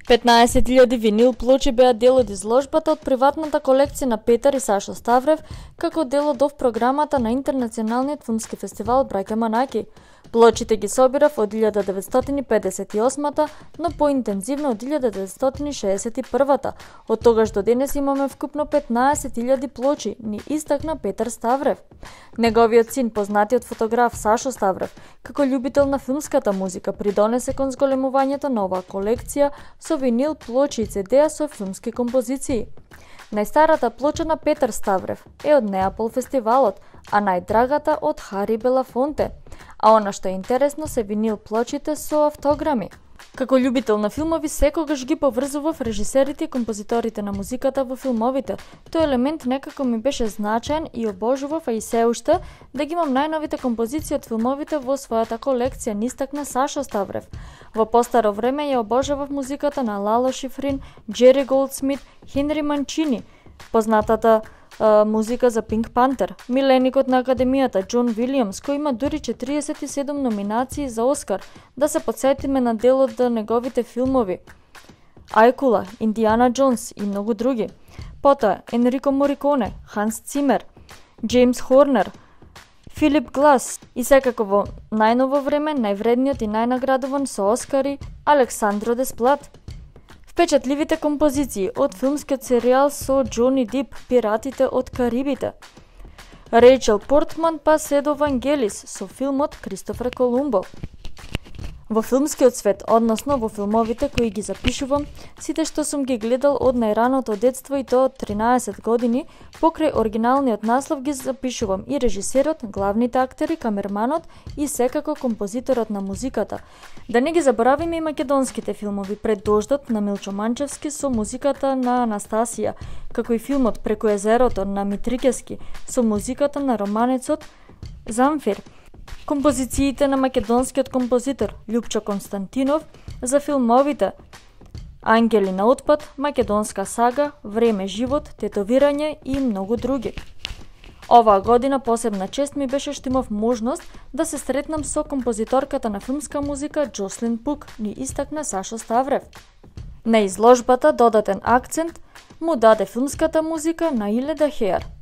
15.000 винил плочи беа дел од изложбата од приватната колекција на Петар и Сашо Ставрев, како дел од програмата на Интернационалниот филмски фестивал Браќа Манаки. Плочите ги собирав од 1958-та, но поинтензивно од 1961-та. Од тогаш до денес имаме вкупно 15.000 плочи, ни истакна Петар Ставрев. Неговиот син, познатиот фотограф Сашо Ставрев, како љубител на филмската музика, придонесе кон зголемувањето на оваа колекција со винил плочи и CD-а со филмски композиции. Најстарата плоча на Петар Ставрев е од Неапол фестивалот, а најдрагата од Хари Белафонте. А она што е интересно се винил плочите со автограми. Како љубител на филмови, секогаш ги поврзував режисерите и композиторите на музиката во филмовите. Тој елемент некако ми беше значаен и обожував, а и се уште, да ги имам најновите композиции од филмовите во својата колекција, ни истакна Сашо Ставрев. Во постаро време ја обожавав музиката на Лало Шифрин, Джери Голдсмит, Хенри Манчини, познатата музика за Пинк Пантер, миленикот на Академијата Џон Вилијамс, кој има дури 47 номинации за Оскар, да се потсетиме на дел од неговите филмови Ајкула, Индиана Џонс и многу други. Потоа Енрико Мориконе, Ханс Цимер, Джеймс Хорнер, Филип Глас и секако во најново време највредниот и најнаградуван со Оскари Александро Десплат. Впечатливите композиции од филмскиот серијал со Џони Дип Пиратите од Карибите. Рејчел Портман па се до Вангелис со филмот Кристофер Колумбо. Во филмскиот свет, односно во филмовите кои ги запишувам, сите што сум ги гледал од најраното детство и то од 13 години, покрај оригиналниот наслов ги запишувам и режисерот, главните актери, камерманот и секако композиторот на музиката. Да не ги заборавиме и македонските филмови Пред дождот на Милчо Манчевски со музиката на Анастасија, како и филмот Преку езерото на Митрикески со музиката на романецот Замфир. Композициите на македонскиот композитор Љупчо Константинов за филмовите Ангели на отпад, Македонска сага, Време живот, Тетовирање и многу други. Оваа година посебна чест ми беше што имав можност да се сретнам со композиторката на филмска музика Џослин Пук, ни истакна Сашо Ставрев. На изложбата додатен акцент му даде филмската музика на Иледа Хеар.